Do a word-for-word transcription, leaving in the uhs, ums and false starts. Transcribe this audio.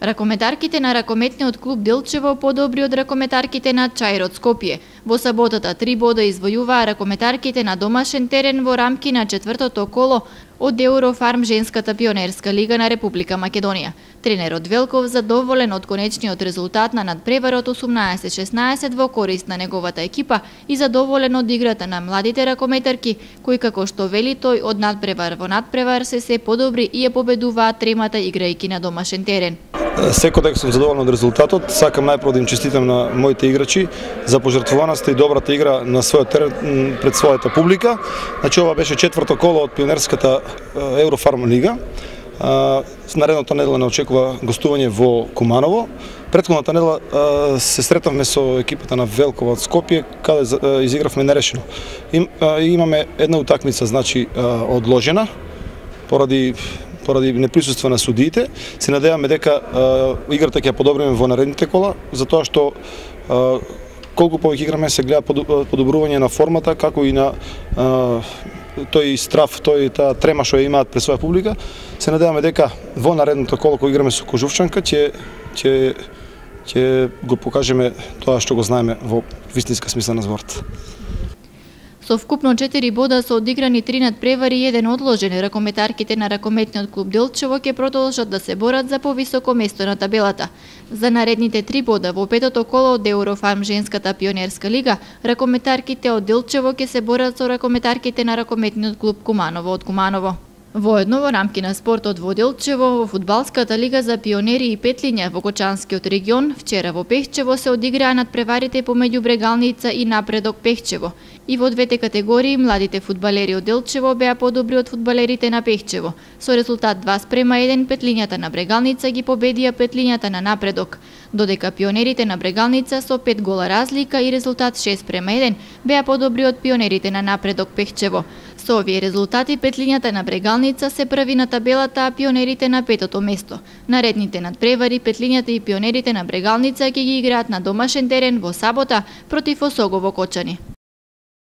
Ракометарките на ракометниот клуб Делчево подобри од ракометарките на Чаир од Скопје. Во саботата три бода извојуваа ракометарките на домашен терен во рамки на четвртото коло од Eurofarm женската пионерска лига на Република Македонија. Тренерот Велков задоволен од конечниот резултат на надпреварот осумнаесет шеснаесет во корист на неговата екипа и задоволен од играта на младите ракометарки, кои како што вели тој од надпревар во надпревар се се подобри и ја победуваат тремата играјки на домашен терен. Секој сум задоволен од резултатот. Сакам најпрво да им честитам на моите играчи за пожртвуваноста и добрата игра на својот терен пред својата публика. Значи ова беше четврто коло од пионерската Eurofarm лига. Наредната недела не очекува гостување во Куманово. Претходната недела се сретавме со екипата на Велкова од Скопје, каде изигравме нерешено. Имаме една утакмица, значи, одложена поради поради неприсуство на судиите. Се надеваме дека а, играта ќе ја подобриме во наредните кола, затоа што а, колку повеќе играме се гледа подобрување на формата, како и на а, тој страф, тој таа трема што ја имаат пред своја публика. Се надеваме дека во наредното коло кој играме со Кожувчанка ќе ќе ќе го покажеме тоа што го знаеме во вистинска смисла на зборот. Со вкупно четири бода со одиграни три надпревари и еден одложен, ракометарките на ракометниот клуб Делчево ќе продолжат да се борат за повисоко место на табелата. За наредните три бода во петото коло од Eurofarm женската пионерска лига, ракометарките од Делчево ќе се борат со ракометарките на ракометниот клуб Куманово од Куманово. Воедно во рамки на спортот во Делчево, во фудбалската лига за пионери и петлиња во Кочанскиот регион, вчера во Пехчево се одиграа надпреварите помеѓу Брегалница и Напредок Пехчево. И во двете категории младите фудбалери од Делчево беа подобри од фудбалерите на Пехчево. Со резултат два спрема еден петлињата на Брегалница ги победија петлињата на Напредок, додека пионерите на Брегалница со пет гола разлика и резултат шест спрема еден беа подобри од пионерите на Напредок Пехчево. Со овие резултати петлињата на Брегалница се први на табелата, а пионерите на петото место. Наредните надпревари петлињата и пионерите на Брегалница ќе ги играат на домашен терен во сабота против Осогово Кочани.